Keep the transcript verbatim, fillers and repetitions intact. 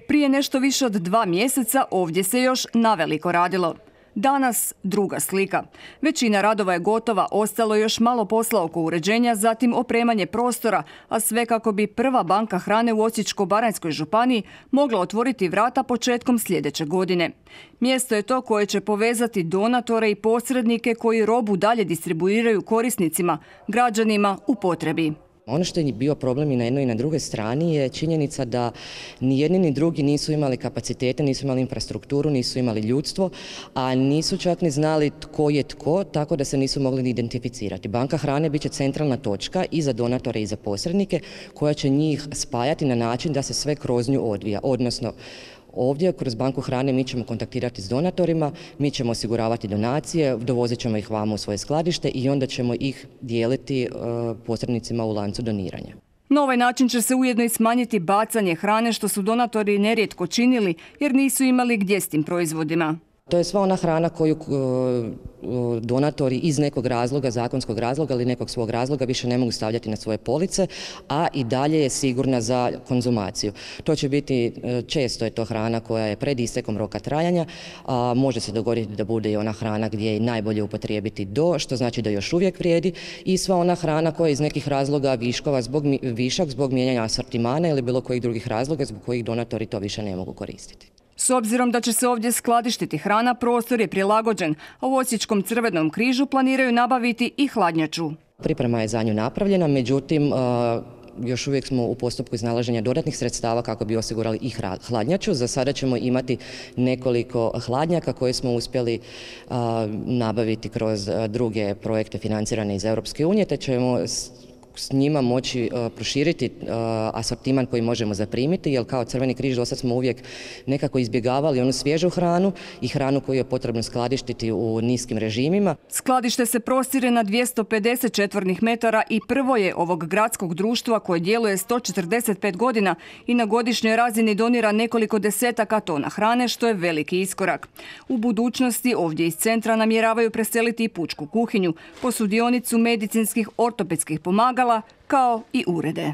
Prije nešto više od dva mjeseca ovdje se još naveliko radilo. Danas druga slika. Većina radova je gotova, ostalo je još malo posla oko uređenja, zatim opremanje prostora, a sve kako bi prva banka hrane u Osječko-baranjskoj županiji mogla otvoriti vrata početkom sljedeće godine. Mjesto je to koje će povezati donatore i posrednike koji robu dalje distribuiraju korisnicima, građanima u potrebi. Ono što je bio problem i na jednoj i na drugoj strani je činjenica da ni jedni ni drugi nisu imali kapacitete, nisu imali infrastrukturu, nisu imali ljudstvo, a nisu čak ni znali tko je tko, tako da se nisu mogli ni identificirati. Banka hrane bit će centralna točka i za donatore i za posrednike koja će njih spajati na način da se sve kroz nju odvija, odnosno ovdje kroz banku hrane mi ćemo kontaktirati s donatorima, mi ćemo osiguravati donacije, dovozit ćemo ih vamo u svoje skladište i onda ćemo ih dijeliti posrednicima u lancu doniranja. Na ovaj način će se ujedno i smanjiti bacanje hrane što su donatori nerijetko činili jer nisu imali gdje s tim proizvodima. To je sva ona hrana koju donatori iz nekog razloga, zakonskog razloga ili nekog svog razloga više ne mogu stavljati na svoje police, a i dalje je sigurna za konzumaciju. To će biti, često je to hrana koja je pred istekom roka trajanja, a može se dogoditi da bude i ona hrana gdje je najbolje upotrijebiti do, što znači da još uvijek vrijedi, i sva ona hrana koja je iz nekih razloga viškova zbog, višak zbog mijenjanja asortimana ili bilo kojih drugih razloga zbog kojih donatori to više ne mogu koristiti. S obzirom da će se ovdje skladištiti hrana, prostor je prilagođen, a u Osječkom Crvenom križu planiraju nabaviti i hladnjaču. Priprema je za nju napravljena, međutim još uvijek smo u postupku iznalaženja dodatnih sredstava kako bi osigurali i hladnjaču. Za sada ćemo imati nekoliko hladnjaka koje smo uspjeli nabaviti kroz druge projekte financirane iz Europske unije, te ćemo s njima moći uh, proširiti uh, asortiman koji možemo zaprimiti, jer kao Crveni križ do sad smo uvijek nekako izbjegavali onu svježu hranu i hranu koju je potrebno skladištiti u niskim režimima. Skladište se prostire na dvjesto pedeset četvornih metara i prvo je ovog gradskog društva koje djeluje sto četrdeset pet godina i na godišnjoj razini donira nekoliko desetaka tona hrane, što je veliki iskorak. U budućnosti ovdje iz centra namjeravaju preseliti i pučku kuhinju, posudionicu medicinskih ortopedskih pomagala, kao i urede.